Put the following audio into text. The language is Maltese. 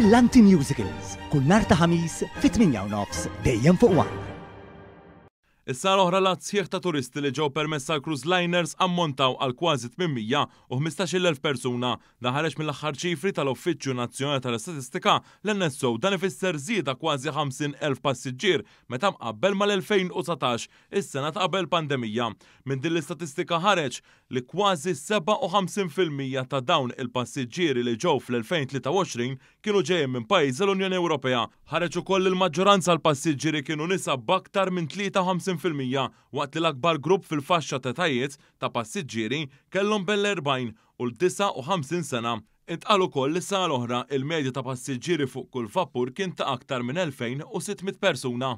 Brillanti Musicals, kull nhar ta' Ħamis fit-8:30 dejjem fuq One. Is-sena l-oħra l-għadd sħiħ ta' turisti li ġew permess għal cruise liners ammontaw għal kważi 815,000 persuna. Dan ħareġ mill-aħħar ċifri tal-Uffiċċju Nazzjonali tal-Istatistika, l-NSO. Dan ifisser żieda kważi 50,000 passiġġier meta mqabbel mal-2019, is-sena ta' qabel pandemija. Minn din l-istatistika ħareġ li kważi 57% ta' dawn il-passiġġieri li ġew fl-2023 kienu ġejjin minn pajjiżi l-Unjoni Ewropea. Ħareġ ukoll li l-maġġoranza l-passiġġieri kienu nisa b'aktar minn 53% waqt li l-akbar grupp fil-faxxa t'etajiet ta' passiġġieri kellhom bejn l-40 u l-59 sena. Intqal ukoll li s-sena l-oħra il-medja ta' passiġġieri fuq kull vapur kien ta' aktar minn 2600 persuna.